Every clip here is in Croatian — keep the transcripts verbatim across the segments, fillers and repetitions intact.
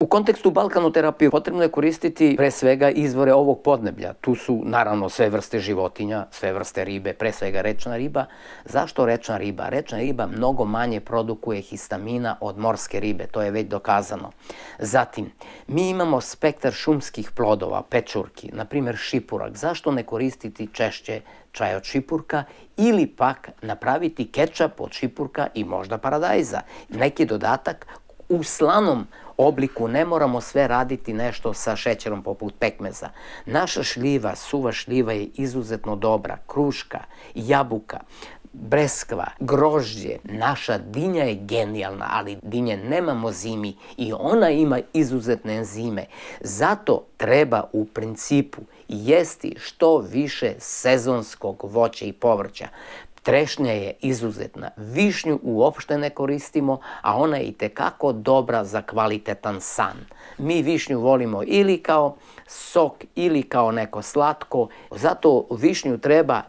U kontekstu balkanoterapije potrebno je koristiti pre svega izvore ovog podneblja. Tu su naravno sve vrste životinja, sve vrste ribe, pre svega rečna riba. Zašto rečna riba? Rečna riba mnogo manje produkuje histamina od morske ribe, to je već dokazano. Zatim, mi imamo spektar šumskih plodova, pečurki, na primjer šipurak. Zašto ne koristiti češće čaj od šipurka ili pak napraviti kečap od šipurka i možda paradajza? Neki dodatak u slanom obliku, ne moramo sve raditi nešto sa šećerom poput pekmeza. Naša šljiva, suva šljiva je izuzetno dobra, kruška, jabuka, breskva, grožđe, naša dinja je genijalna, ali dinje nemamo zimi i ona ima izuzetne enzime. Zato treba u principu jesti što više sezonskog voća i povrća. Trešnja je izuzetna, višnju uopšte ne koristimo, a ona je itekako dobra za kvalitetan san. Mi višnju volimo ili kao sok ili kao neko slatko, zato višnju treba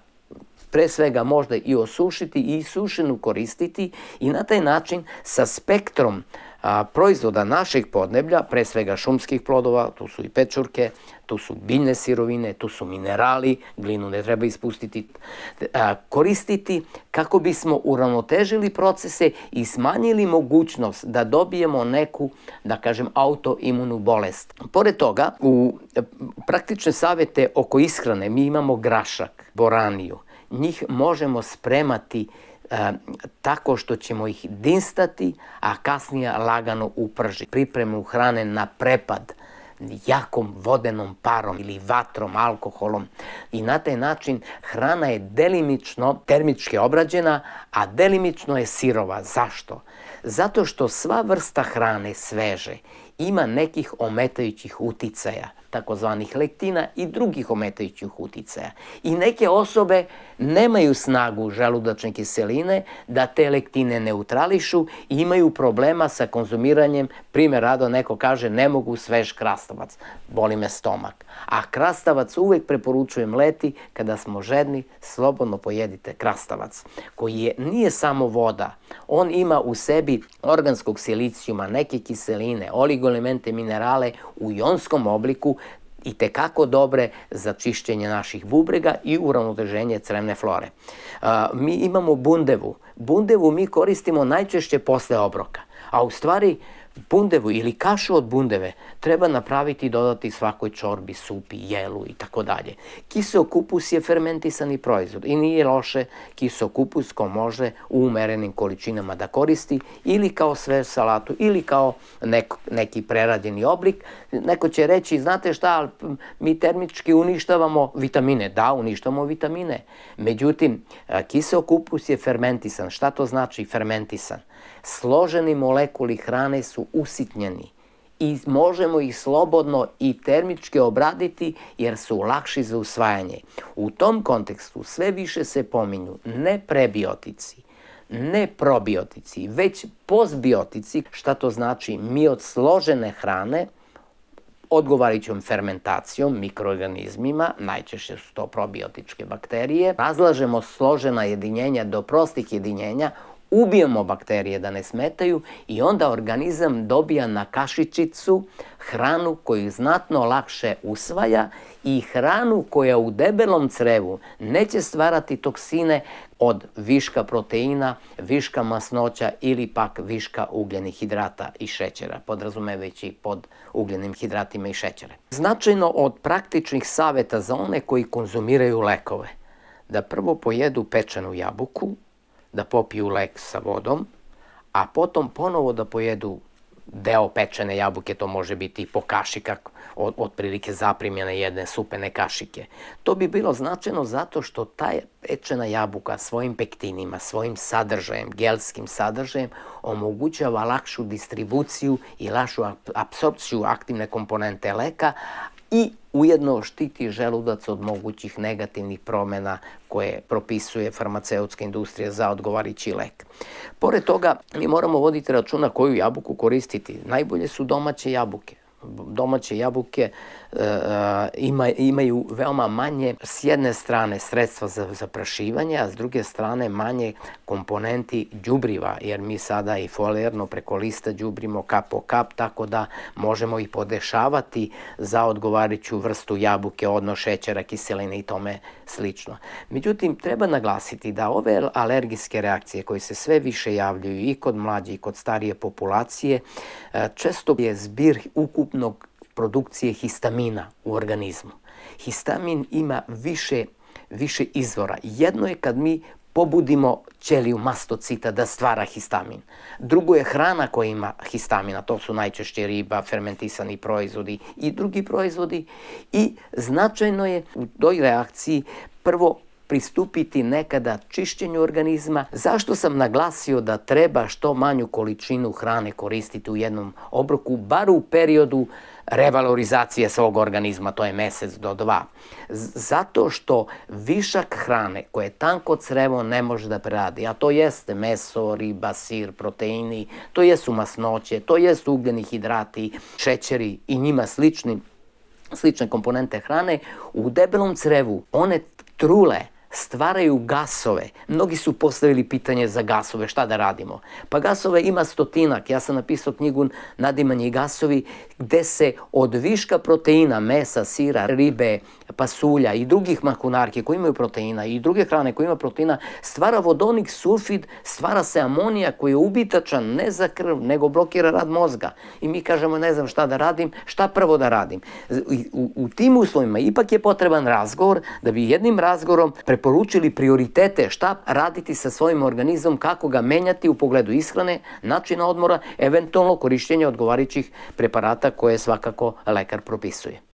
pre svega možda i osušiti i sušenu koristiti i na taj način sa spektrom proizvoda našeg podneblja, pre svega šumskih plodova, tu su i pečurke, tu su biljne sirovine, tu su minerali, glinu ne treba ispustiti, koristiti kako bismo uravnotežili procese i smanjili mogućnost da dobijemo neku, da kažem, autoimunu bolest. Pored toga, u praktične savete oko ishrane mi imamo grašak, boraniju. Njih možemo spremati tako što ćemo ih dinstati, a kasnije lagano upržiti. Pripremu hrane na prepad jakom vodenom parom ili vatrom, alkoholom i na taj način hrana je delimično termički obrađena, a delimično je sirova. Zašto? Zato što sva vrsta hrane sveže ima nekih ometajućih uticaja, takozvanih lektina i drugih ometajućih uticaja. I neke osobe nemaju snagu želudačne kiseline da te lektine neutrališu i imaju problema sa konzumiranjem. Primjer rado, neko kaže ne mogu svež krastavac, boli me stomak. A krastavac uvek preporučujem leti, kada smo žedni, slobodno pojedite krastavac, koji je, nije samo voda, on ima u sebi organskog silicijuma, neke kiseline, oligoelemente, minerale u jonskom obliku, i tekako dobre za čišćenje naših bubrega i uravnoteženje crevne flore. Mi imamo bundevu. Bundevu mi koristimo najčešće posle obroka, a u stvari bundevu ili kašu od bundeve treba napraviti i dodati svakoj čorbi, supi, jelu i tako dalje. Kiseo-kupus je fermentisani proizvod i nije loše kiseo-kupus ko može u umerenim količinama da koristi ili kao svež salatu ili kao neki prerađeni oblik. Neko će reći, znate šta, mi termički uništavamo vitamine. Da, uništavamo vitamine. Međutim, kiseo-kupus je fermentisan. Šta to znači fermentisan? Složeni molekuli hrane su usitnjeni i možemo ih slobodno i termički obraditi jer su lakši za usvajanje. U tom kontekstu sve više se pominju ne prebiotici, ne probiotici, već postbiotici. Šta to znači? Mi od složene hrane, odgovarajućom fermentacijom, mikroorganizmima, najčešće su to probiotičke bakterije, razlažemo složena jedinjenja do prostih jedinjenja, ubijemo bakterije da ne smetaju i onda organizam dobija na kašičicu hranu koju znatno lakše usvaja i hranu koja u debelom crevu neće stvarati toksine od viška proteina, viška masnoća ili pak viška ugljenih hidrata i šećera, podrazumevajući pod ugljenim hidratima i šećere. Značajno od praktičnih saveta za one koji konzumiraju lekove, da prvo pojedu pečenu jabuku, da popiju lek sa vodom, a potom ponovo da pojedu deo pečene jabuke, to može biti po kašika, otprilike zaprimljene jedne supene kašike. To bi bilo značajno zato što ta pečena jabuka svojim pektinima, svojim sadržajem, gelskim sadržajem, omogućava lakšu distribuciju i lakšu apsorpciju aktivne komponente leka i ujedno štiti želudac od mogućih negativnih promjena koje propisuje farmaceutska industrija za odgovarajući lek. Pored toga, mi moramo voditi računa koju jabuku koristiti. Najbolje su domaće jabuke. domaće jabuke ima, imaju veoma manje, s jedne strane sredstva za zaprašivanje, a s druge strane manje komponenti đubriva, jer mi sada i folijarno preko lista đubrimo kap po kap, tako da možemo i podešavati za odgovarajuću vrstu jabuke, odnos šećera, kiseline i tome slično. Međutim, treba naglasiti da ove alergijske reakcije koje se sve više javljaju i kod mlađe i kod starije populacije, često je zbir ukupnog produkcije histamina u organizmu. Histamin ima više, više izvora. Jedno je kad mi pobudimo ćeliju mastocita da stvara histamin. Drugo je hrana koja ima histamina, to su najčešće riba, fermentisani proizvodi i drugi proizvodi. I značajno je u toj reakciji prvo pristupiti nekada čišćenju organizma. Zašto sam naglasio da treba što manju količinu hrane koristiti u jednom obroku, bar u periodu revalorizacije svog organizma, to je mesec do dva. Zato što višak hrane koje tanko crevo ne može da preradi, a to jeste meso, riba, sir, proteini, to jesu masnoće, to jesu ugljeni hidrati, šećeri i njima slični, slične komponente hrane, u debelom crevu one trule stvaraju gasove. Mnogi su postavili pitanje za gasove, šta da radimo? Pa gasove ima stotinak. Ja sam napisao knjigu Nadimanje i gasovi, gde se od viška proteina, mesa, sira, ribe, pasulja i drugih mahunarki koji imaju proteina i druge hrane koje imaju proteina, stvara vodonik sulfid, stvara se amonija koji je ubitačan ne za krv, nego blokira rad mozga. I mi kažemo, ne znam šta da radim, šta prvo da radim. U, u tim uslovima ipak je potreban razgovor, da bi jednim razgovorom preporučili prioritete šta raditi sa svojim organizmom, kako ga menjati u pogledu ishrane, načina odmora, eventualno korišćenja odgovarajućih preparata koje svakako lekar propisuje.